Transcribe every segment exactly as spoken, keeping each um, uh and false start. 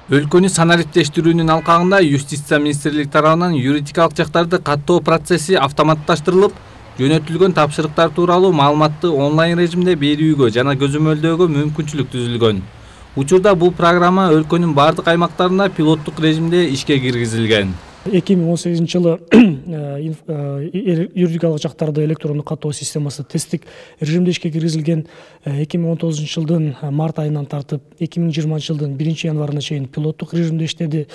Өлкөнү санариптештирүүнүн алкагында Юстиция министрлиги тарабынан юридикалык жактарды каттоо процесси автоматташтырылып, жөнөтүлгөн тапшырыктар тууралуу маалыматты онлайн режимде берүүгө жана көзөмөлдөөгө мүмкүнчүлүк түзүлгөн. Учурда бул программа өлкөнүн бардык аймактарында пилоттук режимде ишке киргизилген. эки миң он сегизинчи жылы юридикалык жактарды электрондук каттоо системасы тесттик режимде ишке киргизилген. эки миң он тогузунчу жылдын март айынан тартып эки миң жыйырманчы жылдын биринчи январына чейин пилоттук режимде иштеди.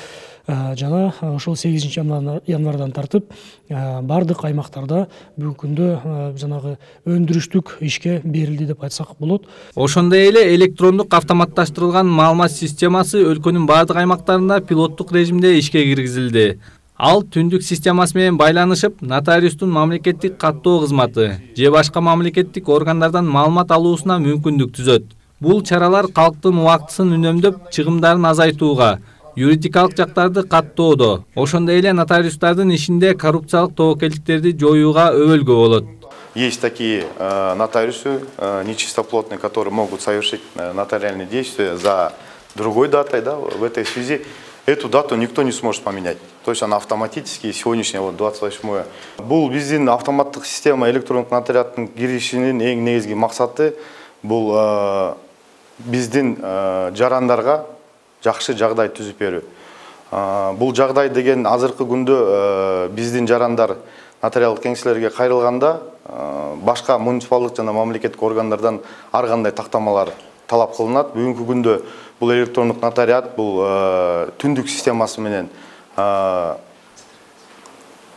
Жана ошол сегизинчи январдан тартып бардык аймактарда бүгүнкү күндө жанагы өндүрүштүк ишке берилди деп айтсак болот. Ошондой эле электрондук автоматташтырылган маалымат системасы өлкөнүн бардык аймактарында пилоттук режимде ишке киргизилди. Ал түндүк системасы менен байланышып, нотариустун мамлекеттик каттоо кызматы же башка мамлекеттик органдардан маалымат алуусуна мүмкүндүк түзөт. Бул чаралар калктын убактысын үнөмдөп, чыгымдарын азайтууга, юридикалык жактарды каттоодо, ошондой эле нотариустардын ишинде коррупциялык тобокелдиктерди жоюуга өбөлгө болот. Есть такие э, нотариусы э, нечистоплотные, которые могут совершить э, нотариальные действия за другой датой, да, в этой связи. Эту дату никто не сможет поменять. То есть она автоматически, сегодняшняя вот двадцать восьмое. Бул биздин автоматтык система электрондук нотариаттын киришинин эң негизги максаты бул э, биздин э, жарандарга жакшы жагдай түзүп берүү. Э, бул жагдай деген азыркы күндө э, биздин жарандар нотариалдык кеңселерге кайрылганда э, башка муниципалдык жана мамлекеттик органдардан ар кандай тактамалар талап кылынат. Бүгүнкү күндө бул электрондук нотариат бул э, түндүк системасы менен э,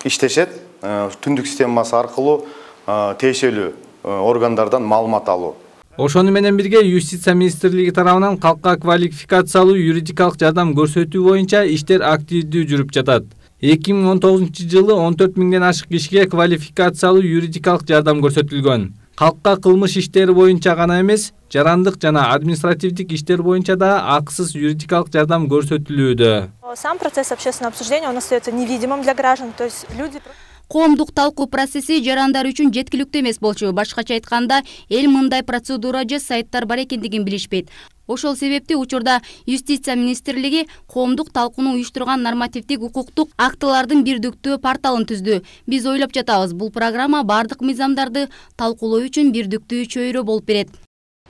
иштешет. Э, түндүк системасы аркылуу э, тиешелүү э, органдардан маалымат алуу. Ошону менен бирге Юстиция министрлиги тарабынан калкка квалификациялуу юридикалык жардам көрсөтүү боюнча иштер активдүү жүрүп жатат. эки миң он тогузунчу жылы он төрт миңден ашык кишиге квалификациялуу юридикалык жардам көрсөтүлгөн. Калкка кылмыш иштери боюнча гана эмес, жарандык жана административдик иштер боюнча да акысыз юридикалык жардам көрсөтүлүүдө. Сам процесс общественного обсуждения он остается невидимым для граждан, то есть люди... Коомдук талкуу процесси жарандар үчүн жеткиликтүү эмес болчу. Башкача айтканда, эл мындай процедура же сайттар бар экендигин билишпейт. Ошол себепти учурда Юстиция министрлиги коомдук талкууну уюштурган нормативдик укуктук актылардын бирдиктүү порталын түздү. Биз ойлоп жатабыз, бул программа бардык мыйзамдарды талкуулоо үчүн бирдиктүү чөйрө болуп берет.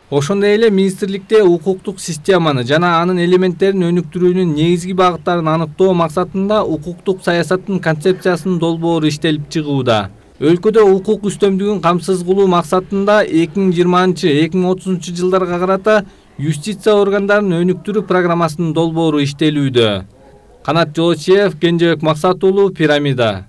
Ошондой эле министрликте укуктук системаны жана анын элементтерин өнүктүрүүнүн негизги багыттарын аныктоо максатында укуктук саясаттын концепциясынын долбоору иштелип чыгууда. Өлкөдө укук үстөмдүгүн камсыз кылуу максатында эки миң жыйырманчы эки миң отузунчу жылдарга карата юстиция органдарын өнүктүрүү программасынын долбоору иштелүүдө. Канат Жолочиев, Кенжебек Максат уулу, Пирамида.